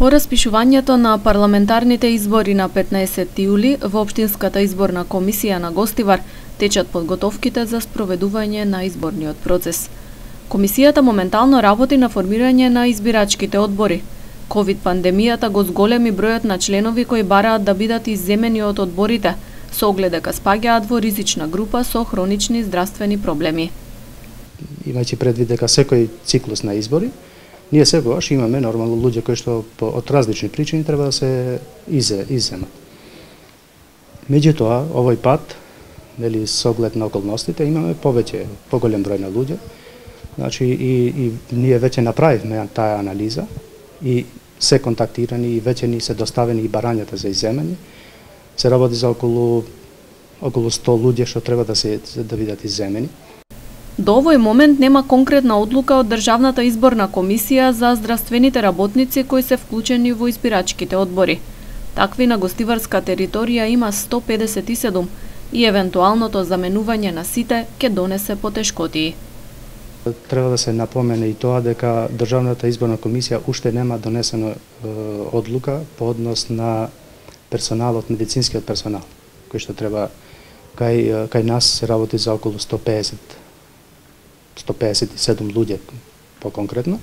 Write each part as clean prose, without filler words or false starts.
По распишувањето на парламентарните избори на 15 јули во Општинската изборна комисија на Гостивар течат подготовките за спроведување на изборниот процес. Комисијата моментално работи на формирање на избирачките одбори. ковид пандемијата го зголеми бројот на членови кои бараат да бидат изземени од одборите, со оглед дека спаѓаат во ризична група со хронични здравствени проблеми. Имајќи предвид дека секој циклус на избори, ние секогаш имаме нормално луѓе кои што од различни причини треба да се изземат. Меѓутоа, овој пат, нели со оглед на околностите, имаме поголем број на луѓе. Значи и ние веќе направивме таа анализа и се контактирани и веќе ни се доставени и барањата за изземање. Се работи за околу 100 луѓе што треба да бидат изземени. До овој момент нема конкретна одлука од Државната изборна комисија за здравствените работници кои се вклучени во избирачките одбори. Такви на гостиварска територија има 157 и евентуалното заменување на сите ќе донесе потешкотии. Треба да се напомене и тоа дека Државната изборна комисија уште нема донесена одлука по однос на персоналот, медицинскиот персонал, кој што треба кај нас се работи за околу 157 луѓе по-конкретно,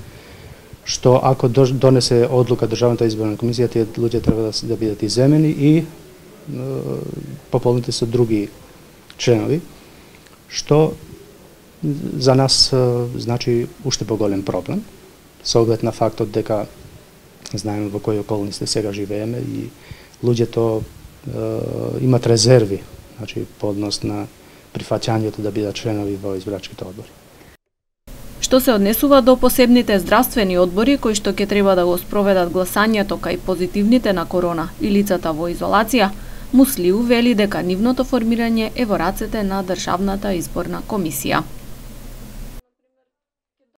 што ако донесе одлука Државната изборна комисија, тие луѓе треба да бидат изземени и пополнети со други членови, што за нас значи уште поголем проблем, со оглед на фактот дека знаеме во кои околности сега живееме и луѓето имат резерви, значи по однос на прифаќањето да бидат членови во избирачките одбори. Што се однесува до посебните здравствени одбори кои што ќе треба да го спроведат гласањето кај позитивните на корона и лицата во изолација, Муслиу вели дека нивното формирање е во рацете на Државната изборна комисија.